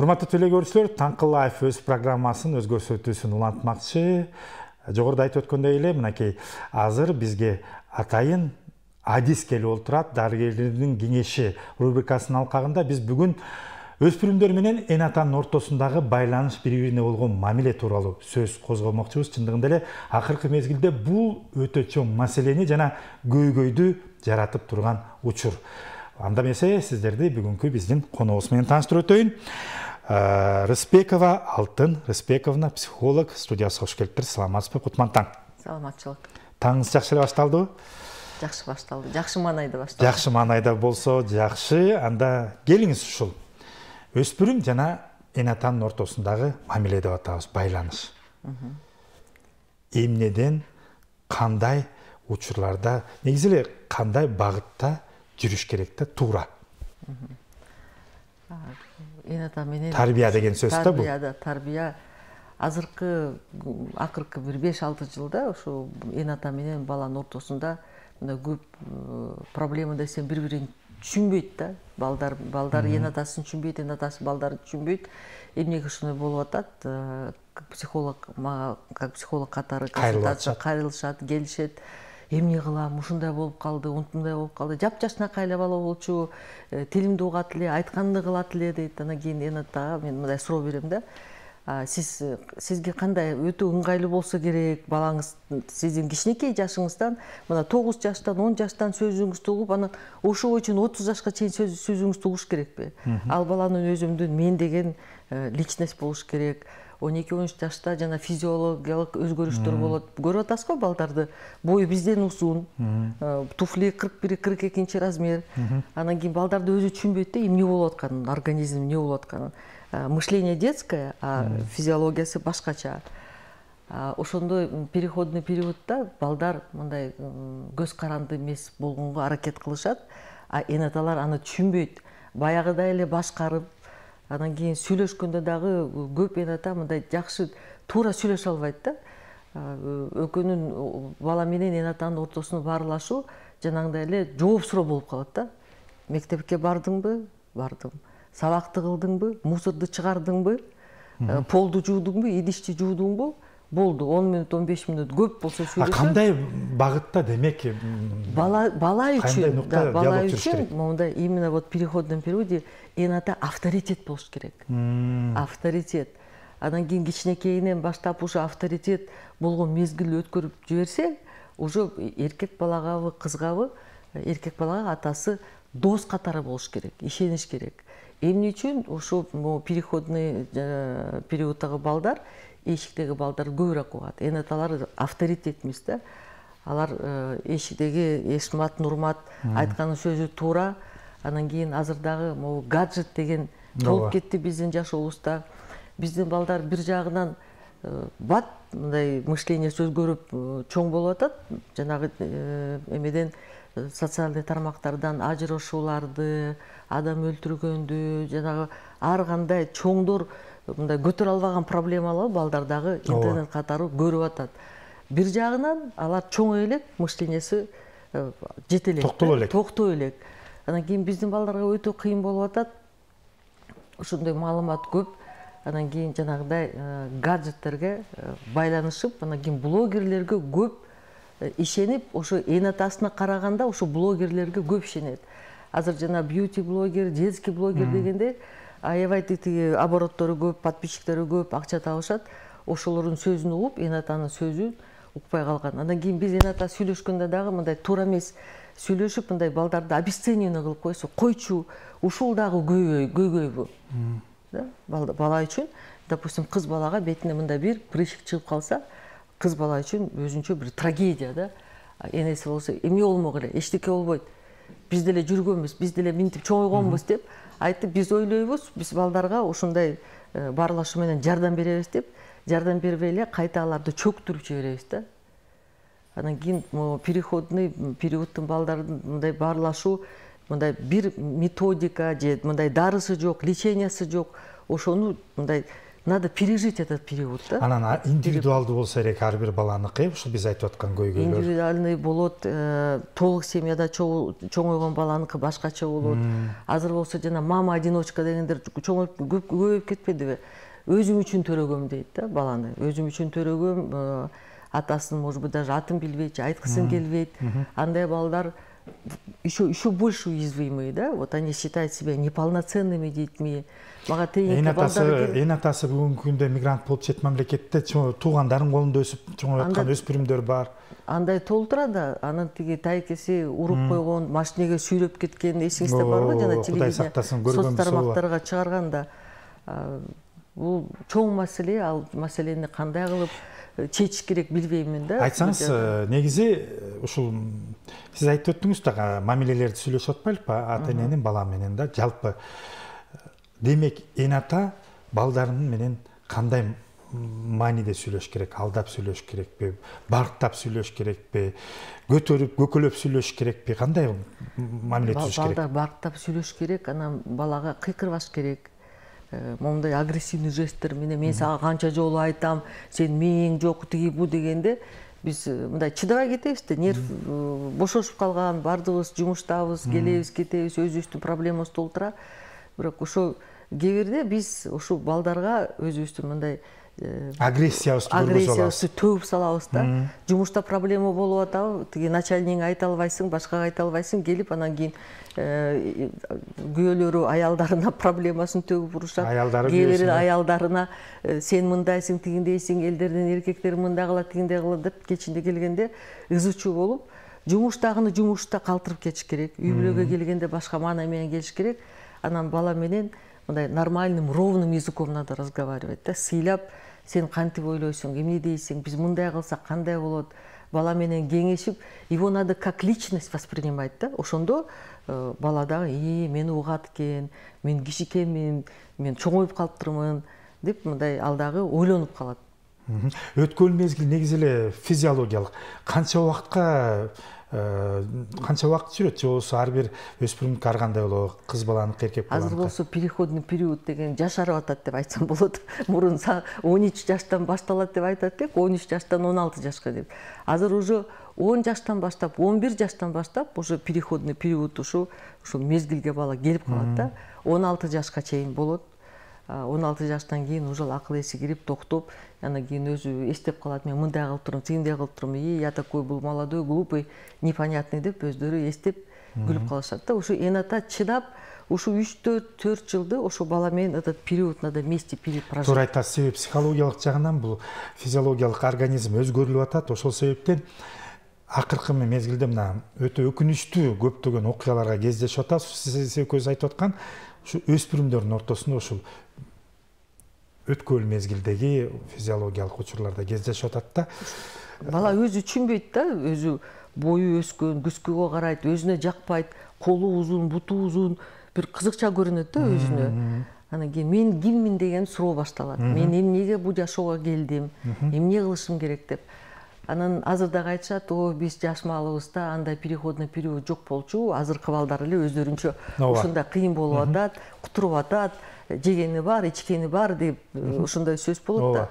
Урматтуу теле көрүүчүлөр, Таңкы Лайф өз программасын өз көрсөтүүсүн улантмакчы. Жогоруда айтып өткөндөй эле, мынакей азыр бизге атайын адис келип олтурат. Дарыгерлердин кеңеши рубрикасынын алкагында биз бүгүн өспүрүмдөр менен эн атанын ортосундагы байланыш, бири-бирине болгон мамиле тууралуу сөз козгомокчубуз. Чындыгында эле акыркы мезгилде бул өтө чоң маселени жана көйгөйдү жаратып турган учур. Анда эмесе сиздерди бүгүнкү биздин коногубуз менен тааныштырып өтөйүн. Рыспекова Алтын Рыспековна, психолог, студиясына кош келиптир. Саламатсызбы? Кутман таң. Саламатчылык. Таңыңыз жакшы эле башталдыбы? Жакшы башталды. Жакшы маанайда башталды. Жакшы маанайда болсо жакшы. Анда келиңиз ушул өспүрүм жана эн атанын ортосундагы мамиле деп атабыз, байланыш. Эмнеден, кандай учурларда, негизи эле кандай багытта жүрүш керек да, туура? Эн ата менен тарбия деген сөз да бул. Тарбия акыркы бир 5-6 жылда ошо эн ата менен баланын ортосунда мындай көп проблема десем бири-бирин түшүнбөйт да. Балдар эн атасын түшүнбөйт, эн атасы балдарды түшүнбөйт. Эмнеге ушундой болуп атат? Психолог катары консультация кайрылышат, келишет. Эмне кылам, ушундай болуп калды, ушундай болуп калды. Жапжашнакай эле бала болчу, тилимди угат эле, айтканымды кылат эле дейт. Анан кийин эн атага мен мындай суроо берем да. Сизге кандай өтө ыңгайлуу болсо керек, балаңыз сиздин кичинекей жашыңыздан, мына 9 жаштан, 10 жаштан сөзүңүздү угуп, анан ошого чейин 30 жашка чейин сөзүңүздү угуш керекпи? Ал баланын өзүмдүн мен деген личность болуш керек. 12-13 жашта жана физиологиялык өзгөрүштөр болот. Көрүп атасызбы балдарды? Бою бизден узун, туфли 41-42 размер. Анан кийин балдарды өзү түшүнбөйт да, эмне болуп атканын, организм эмне болуп атканын. Мышление детское, а физиологиясы башкача. Ошондой переходный периодда балдар мындай көз каранды эмес болгонго аракет кылышат, а эн аталар аны түшүнбөйт. Баягыдай эле башкарып, анан кийин сүйлөшкөндө дагы көп эн ата мындай жакшы туура сүйлөшө албайт да. Экөөнүн бала менен эн атанын ортосуна баарлашуу жанагындай эле жооп суроо болуп калат да. Мектепке бардыңбы? Бардым. Сабакты кылдыңбы? Мусорду чыгардыңбы? Полду жуудуңбу? Идишти жуудуңбу? Болду. 10 минут, 15 минут көп болсо сүйлөшөт. Кандай багытта демек? Бала үчүн мондай именно вот переходный периоде эн ата авторитет болуш керек. Авторитет. Анан кийин кичинекейинен баштап ушу авторитет болгон мезгил өткөрүп жиберсе, уже эркек балагабы, кызгабы, эркек балага атасы дос катары болуш керек, ишениш керек. Эмне үчүн ошо переходный периоддагы балдар, эшиктеги балдар көбүрөөк угат. Эн аталар авторитет эмес да. Алар эшиктеги Эшмат, Нурмат айткан сөзү туура. Анан кийин азыр дагы могу гаджет деген толуп кетти биздин жашообузда. Биздин балдар бир жагынан бат мындай мышлениеси өзгөрүп чоң болуп атат. Жанагы эмеден социалдык тармактардан ажырашууларды, адам өлтүргөндү, жанагы ар кандай чоңдор мындай көтөрө албаган проблемалар балдардагы интернет катары көрүп атат. Бир жагынан алар чоңой элек, мышлениеси жете элек, токтой элек. Анан кийин биздин балдарга өтө кыйын болуп атат. Ошондой маалымат көп. Анан кийин жанагыдай гаджеттерге байланышып, анан кийин блогерлерге көп ишенип, ошо эн атасына караганда ошо блогерлерге көп ишенет. Азыр жана бьюти блогер, детский блогер дегенде аябай тиги обороттору көп, подписчиктери көп, акча табышат. Ошолордун сөзүн угуп, эн атанын сөзүн укпай калган. Андан кийин биз эн ата сүйлөшкөндө дагы мындай туура эмес сүйлөшүп, мындай балдарды обесценивание кылып койсо, койчу, ушул дагы көйгөйбү. Бала үчүн, допустим, кыз балага бетине мындай бир прыщик чыгып калса, кыз бала үчүн өзүнчө бир трагедия да. Энеси болсо, эмне болмок эле, эчтеке болбойт. Биз деле жүргөнбүз, биз деле минтип чоңойгонбуз деп айтып, биз ойлойбуз, биз балдарга ушундай баарлашуу менен жардам беребиз деп, жардам бербей эле кайта аларды чөктүрүп жиберебиз да. Анан кийин переходный периоддун балдарын мындай баарлашуу, мындай бир методика же мындай дарысы жок, лечениясы жок, ошону мындай надо пережить этот период да. Анан индивидуалдуу болсо керек ар бир баланыкы, ушул биз айтып аткан көйгөйлөр. Индивидуальный болот, толук семьяда чоңойгон баланыкы башкача болот. Азыр болсо жана мама одиночка дегендер көбөйүп кетпедиби? Өзүм үчүн төрөгөм дейт да баланы. Өзүм үчүн төрөгөм, атасын, может быть, даже атын билбейт, айткысын келбейт. Андай балдар еще больше уязвимые, да? Вот они считают себя неполноценными детьми. Мага Эң атасы бүгүнкү күндө мигрант болуп чет мамлекетте туугандардын колунда өсүп чоңоюп аткан өспүрүмдөр бар. Андай толтура да, анын тиги тайкеси уруп койгон, машинеге сүйрөп кеткен, эсиңизде барбы? Жана телевидение соц тармактарга чыгарганда. Бул чоң маселе, ал маселени кандай кылып чечиш керек билбеймин да. Айтсаңыз, негизи ушул сиз айтып өттүңүз да, мамилелерди сүйлөшүп атпайлыкпы, ата эненин бала менен да, жалпы. Демек, эн ата балдарын менен кандай мааниде сүйлөш керек, алдап сүйлөш керекпи, барктап сүйлөш керекпи, көтөрүп, көкөлөп сүйлөш керекпи, кандай мамиле түзүш керек? Балдар барктап сүйлөш керек, анан балага кыйкырбаш керек. Момундай агрессивный жесттер менен мен сага канча жолу айтам, сен мээң жок, тиги бу дегенде биз мындай чыдабай кетебиз да, нерв бошошуп калган, баардыгыбыз жумуштабыз, келебиз, кетебиз, өзүбүздүн проблемабыз толтура. Бирок ошо кээ бирде биз ушул балдарга өзүбүздүн мындай агрессиябызды төгүп салабыз да. Жумушта проблема болуп атабы, тиги начальнигиңе айта албайсың, башкага айта албайсың, келип анан кийин күйөөлөрү аялдарына проблемасын төгүп урушат. Кээ бир аялдарына сен мындайсың, тигиндейсиң, элдердин эркектери мындай кылат, тигиндей кылат деп кечинде келгенде ызы чуу болуп, жумуштагыны жумушта калтырып кетиш керек. Үй бүлөгө келгенде башка маана менен келиш керек. Анан бала менен мындай нормальным, ровным языком надо разговаривать да, сыйлап, сен кантип ойлойсуң, эмне дейсиң, биз мындай кылсак кандай болот, бала менен кеңешип, его надо как личность воспринимать да. Ошондо бала дагы мени угат экен, мен кичикемин, мен чоңоюп калыптырмын деп мындай ал дагы ойлонуп калат. Өткөн мезгил негизи эле физиологиялык. Канча убакыт жүрөт, же болбосо ар бир өспүрүмдүккө ар кандай болобу, кыз баланыкы, эркек баланыкы? Азыр болсо переходный период деген жашарып атат деп айтсам болот. Мурун 13 жаштан башталат деп айтат элек, 13 жаштан 16 жашка деп. Азыр уже 10 жаштан баштап, 11 жаштан баштап уже переходный период ушул мезгилге бала келип калат да. 16 жашка чейин болот. 16 жаштан кийин уже акыл эси кирип токтоп, анан кийин өзү эстеп калат, мен мындай кылып турмун, тигиндей кылып турмун, я такой был молодой, глупый, непонятный деп өздөрү эстеп күлүп калышат да. Ушу эн ата чыдап, ушу 3-4 жылды ошо бала менен этот период надо вместе прожить. Туура айтасыз, себеби психологиялык жагынан бул физиологиялык организм өзгөрүлүп атат. Ошол себептен акыркы мезгилде мына өтө өкүнүчтүү көптөгөн окуяларга кездешип атат. Сиз экөөбүз айтып аткан ушу өспүрүмдөрдүн ортосунда ушул өткөн мезгилдеги физиологиялык учурларда кездешип атат да. Бала өзү түшүнбөйт да, өзү бою өскөн, күскөгө карайт, өзүнө жакпайт, колу узун, буту узун, бир кызыкча көрүнөт да өзүнө. Анан кийин мен киммин деген суроо башталат. Мен эмнеге бул жашоого келдим, эмне кылышым керек деп. Анан азыр дагы айтышат, биз жаш маалыбызда андай переходный период жок болчу, азыркы балдар эле өздөрүнчө ушундай кыйын болуп атат, кутуруп атат, жегени бар, ичкени бар деп ушундай сөз болот да.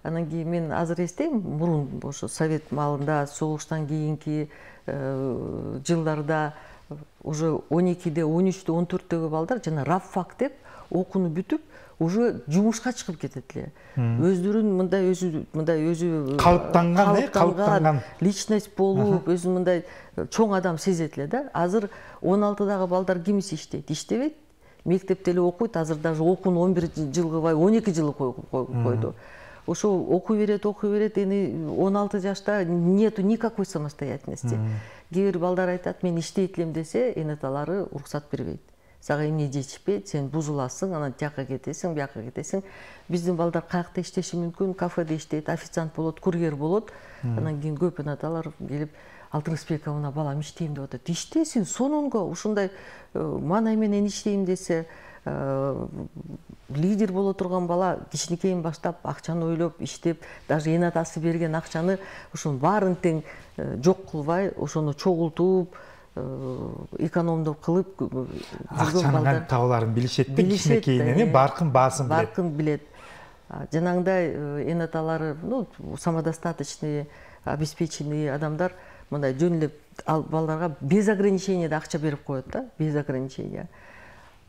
Анан кийин мен азыр эстейм, мурун ошо совет маалында, согуштан кийинки жылдарда уже 12-де, 13-те, 14-төгү балдар жана рабфак деп окууну бүтүп, уже жумушка чыгып кетет эле. Өздөрүн мындай өзү калыптанган личность болуп, өзү мындай чоң адам сезет эле да. Азыр 16дагы балдар кимиси иштейт? Иштебейт. Мектепте эле окуйт, азыр даже окууну 11 жыл кылбай 12 жыл койду. Ошо окуй берет, эми 16 жашта нету никакой самостоятельности. Кээ бир балдар айтат, мен иштейт элем десе, энаталары уруксат бербейт. Сага эмне жетишпейт, сен бузуласың, анан тияка кетесиң, бияка кетесиң. Биздин балдар каякта иштеши мүмкүн, кафеде иштейт, официант болот, курьер болот. Анан кийин көп энаталар келип, Алтынбековна, балам иштейм деп атат. Иштесин, сонунго ушундай маанай менен иштейм десе, лидер боло турган бала кичинекейин баштап акчаны ойлоп иштеп, даже эн атасы берген акчаны ушунун баарын тең жок кылбай, ошону чогултуп, экономдоп кылып акчанын табаларын билишет да, кичинекейинен баркын баасын билет. Баркын билет. жанагындай эн аталары самодостаточный обеспеченный адамдар мындай жөн эле балдарга без ограничения да акча берип коет да, без ограничения.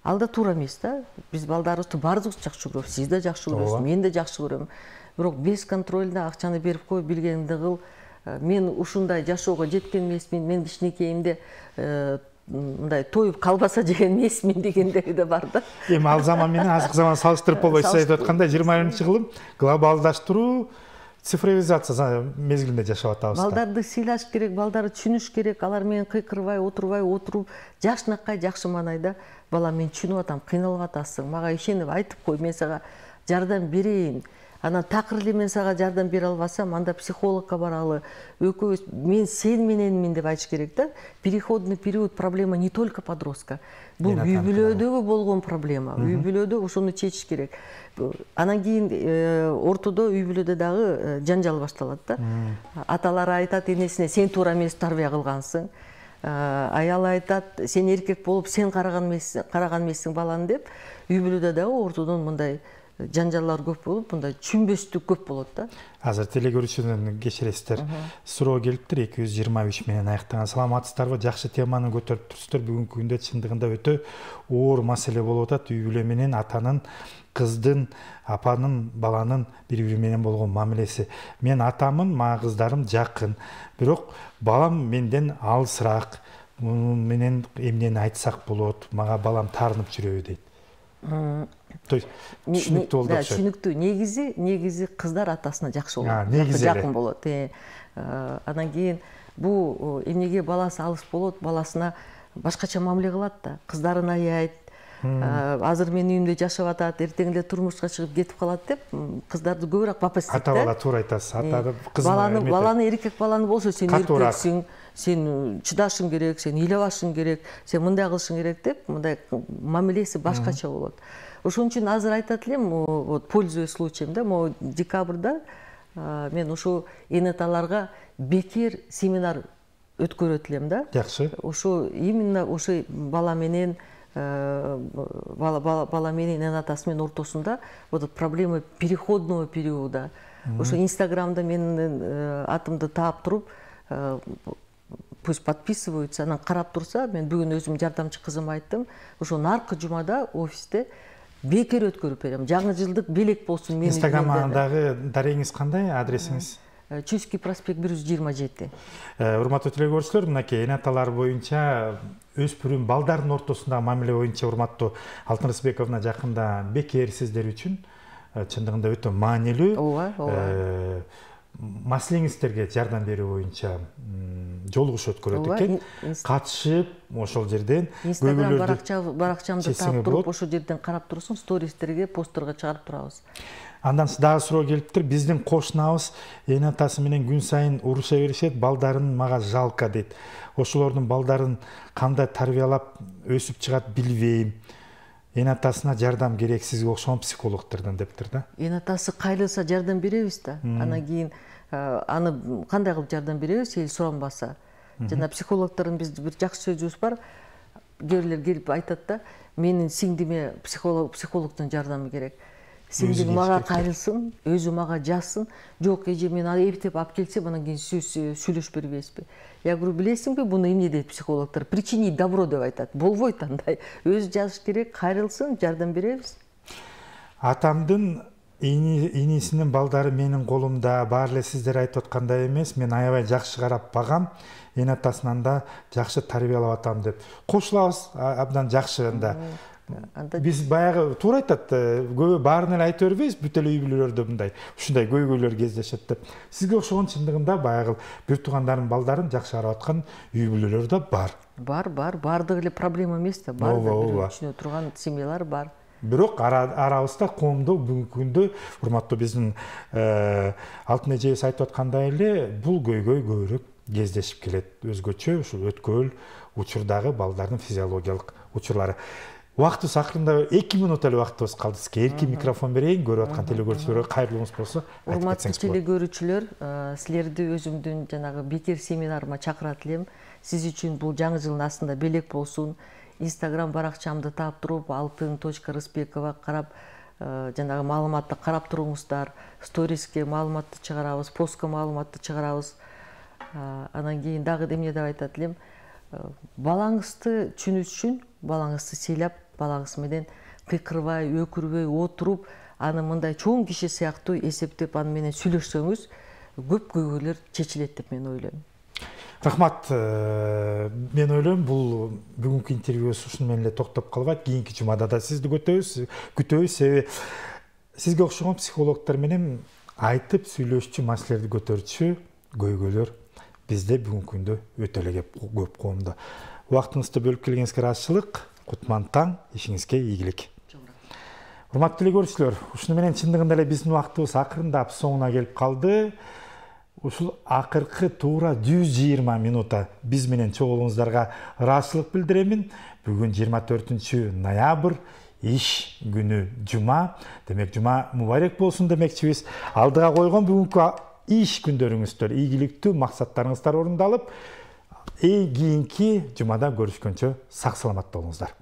Ал да туура эмес да. Биз балдарыбызды баарыбыз жакшы көрөбүз, сиз да жакшы көрөсүз, мен да жакшы көрөм. Бирок бесконтрольно акчаны берип коюп билгениңди кыл. Мен ушундай жашоого жеткен эмесмин, мен кичинекейимде мындай тоюп колбаса жеген эмесмин дегендери да бар да. Эми ал заман менен азыркы заман салыштырып болбой, сиз айтып аткандай 20-кылым глобалдаштыруу, цифровизация мезгилинде жашап атабыз. Балдарды сыйлаш керек, балдарды түшүнүш керек. Алар менен кыйкырбай, отуруп, жакшынакай жакшы маанайда бала мен түшүнүп атам, кыйналып атасың, мага ишенип айтып кой, мен сага жардам берейин. Анан такыр эле мен сага жардам бере албасам, анда психологко баралы. Экөөбүз мен сен мененмин деп айтыш керек да. Переходный период проблема не только подростка. Бул үй бүлөдөгү болгон проблема. Үй бүлөдө ошону чечиш керек. Анан кийин ортодо үй бүлөдө дагы жанжал башталат да. Аталар айтат энесине, сен туура эмес тарбия кылгансың. Аял айтат, сен эркек болуп сен караган эмессиң баланы деп. Үй бүлөдө дагы ортодон мындай жанжаллар көп болуп, мындай түшүнбөстүк көп болот да. Азыр телегөрүүчүдөн кечиресиздер. Суроо келиптир 223 менен аяктаган. Саламатсыздарбы? Жакшы теманы көтөрүп турсуздар. Бүгүнкү күндө чындыгында өтө оор маселе болуп атат. Үй бүлө менен атанын, кыздын, апанын, баланын бири-бири менен болгон мамилеси. Мен атамын, мага кыздарым жакын. Бирок балам менден алысыраак. Муну менен эмнени айтсак болот? Мага балам таарынып жүрөбү дейт. То есть түшүнүктүү болду. Түшүнүктүү. Негизи кыздар атасына жакшы болот. Жакын болот. Анан кийин бул эмнеге баласы алыс болот, баласына башкача мамиле кылат да. Кыздарын аяйт. Азыр менин үйүмдө жашап атат, эртең эле турмушка чыгып кетип калат деп, кыздарды көбүрөөк папа истейт да. Ата бала туура айтасыз. Ата кызын баланы эркек баланы болсо сен эркексиң, сен чыдашың керек, сен ыйлабашың керек, сен мындай кылышың керек деп, мындай мамилеси башкача болот. Ошон үчүн азыр айтат элем, вот пользуясь случаем да, могу декабрда мен ушу эн аталарга бекер семинар өткөрөт элем да. Жакшы. Ошо именно ошо бала менен бала менен эн атасы менен ортосунда вот проблема переходного периода. Ошо Инстаграмда менин атымды таап туруп, пусть подписываются, анан карап турса, мен бүгүн өзүм жардамчы кызыма айттым, ошо наркы жумада офисте бекер өткөрүп берем. Жаңы жылдык белек болсун менин. Инстаграмдагы дарегиңиз кандай, адресиңиз? Чуйский проспект 127. Урматтуу телегөрүүчүлөр, мынакей эн аталар боюнча өспүрүм балдардын ортосундагы мамиле боюнча урматтуу Алтын Рысбековна жакында бекер сиздер үчүн чындыгында өтө маанилүү маселеңиздерге жардам берүү боюнча жолугуш өткөрөт экен. Катышып, ошол жерден Инстаграм баракчамды таап туруп, ошол жерден карап турсун, стористерге, постторго чыгарып турабыз. Андан дагы суроо келиптир. Биздин кошунабыз эн атасы менен күн сайын уруша беришет, балдарын мага жалко дейт. Ошолордун балдарын кандай тарбиялап өсүп чыгат билбейм. Эн атасына жардам керек сизге окшогон психологдордон дептир да. Эн атасы кайрылса жардам беребиз да. Анан кийин аны кандай кылып жардам беребиз, эл суранбаса. Жана психологдордун биздин бир жакшы сөзүбүз бар. Кээ бирлер келип айтат да, менин сиңдиме психологдун жардамы керек. Сиңдим мага кайрылсын, өзү мага жазсын. Жок, эже мен эптеп алып келсем, анан кийин сүйлөшүп бербейсизби? Я говорю, билесиңби, буну эмне дейт психологдор? Причинить добро деп айтат. Болбойт андай. Өзү жазыш керек, кайрылсын, жардам беребиз. Атамдын инисинин балдары менин колумда, баары эле сиздер айтып аткандай эмес. Мен аябай жакшы карап багам. Эн атасынан да жакшы тарбиялап атам деп. Кошулабыз, абдан жакшы анда. Биз баягы туура айтат, көбү баарын эле айта бербейбиз, бүт эле үй бүлөлөрдө мындай ушундай көйгөйлөр кездешет деп. Сизге окшогон чындыгында баягы бир туугандардын балдарын жакшы карап аткан үй бүлөлөр да бар. Бар, бардыгы эле проблема эмес да, бар да, түшүнө турган семьялар бар. Бирок арабызда коомдо бүгүнкү күндө урматтуу биздин Алтын эжебиз айтып аткандай эле бул көйгөй көбүрөөк кездешип келет. Өзгөчө ушул өткөл учурдагы балдардын физиологиялык учурлары. Убактыбыз акырында 2 минут эле убактыбыз калды. Сизге эркин микрофон берейин. Көрүп аткан телегөрүүчүлөргө кайрылуңуз болсо айтып кетсеңиз болот. Урматтуу телегөрүүчүлөр, силерди өзүмдүн жанагы бекер семинарыма чакырат элем. Сиз үчүн бул жаңы жылдын астында белек болсун. Инстаграм баракчамды таап туруп, altın.ryspekova карап, жанагы маалыматты карап туруңуздар, сториске маалыматты чыгарабыз, постко маалыматты чыгарабыз. Анан кийин дагы эмне деп айтат элем, балаңызды түшүнүш үчүн балаңызды сыйлап, балаңыз менен кыйкырбай, өкүрбөй отуруп, аны мындай чоң киши сыяктуу эсептеп аны менен сүйлөшсөңүз, көп көйгөйлөр чечилет деп мен ойлойм. Рахмат. Мен ойлойм, бул бүгүнкү интервьюбуз ушуну менен эле токтоп калбайт. Кийинки жумада да сизди күтөбүз. Себеби сизге окшогон психологдор менен айтып сүйлөшчү, маселелерди көтөрчү көйгөйлөр бизде бүгүнкү күндө өтө эле көп коомдо. Убактыңызды бөлүп келгениңизге ыраазычылык. Кутман таң, ишиңизге ийгилик. Урматтуу эле көрүүчүлөр, ушуну менен чындыгында эле биздин убактыбыз акырындап соңуна келип калды. Ушул акыркы туура 120 минута биз менен чогулуңуздарга ыраазычылык билдиремин. Бүгүн 24 ноябрь, иш күнү жума. Демек жума мубарек болсун демекчибиз. Алдыга койгон бүгүнкү иш күндөрүңүздөр ийгиликтүү, максаттарыңыздар орундалып, кийинки жумада көрүшкөнчө сак саламатта болуңуздар.